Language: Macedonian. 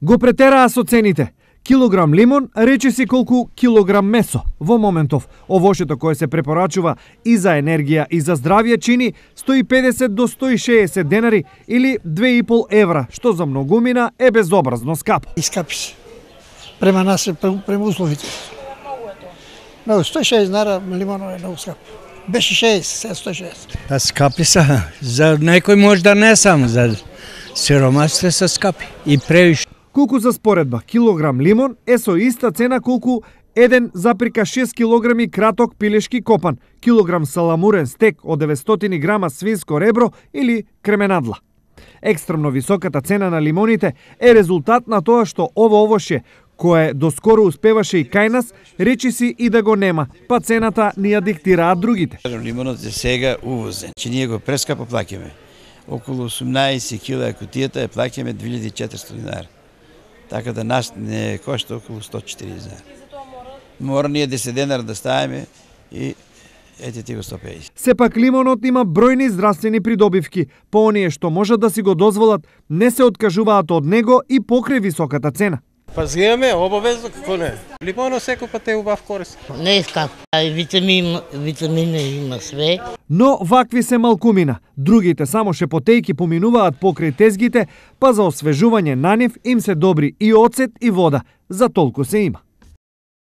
Го претераа со цените. Килограм лимон речиси колку килограм месо. Во моментов, овошето кое се препорачува и за енергија и за здравје чини 150 до 160 денари или 2,5 евра, што за многумина е безобразно скапо. Искапи се. Према нас, према условите. Много, 160 динара лимонот е много скапо. Беше 60, сега 160. Скапи се. За некој може да не само, за сиромасите се скапи и превише. Колку за споредба, килограм лимон е со иста цена колку 1,6 килограми краток пилешки копан, килограм саламурен стек од 900 грама свинско ребро или кременадла. Екстремно високата цена на лимоните е резултат на тоа што ово овошје, кое доскоро успеваше и кај нас, речиси и да го нема, па цената ни ја диктираат другите. Лимонот е сега увозен, че ние го прескапо плаќаме. Околу 18 кила кутијата е плаќаме 2400 динара. Така да нас не кошта околу 140 динара. Мора ние 10 денара да ставиме и ете ти го 150. Сепак лимонот има бројни здравствени придобивки, по оние што можат да си го дозволат, не се откажуваат од него и покрај високата цена. Па згиваме обавезно, како не? Лимонот секој пат е убав корист. Не е скап, витамини има све. Но вакви се малкумина. Другите само шепотејки поминуваат покрај тезгите, па за освежување на нив им се добри и оцет и вода. За толку се има.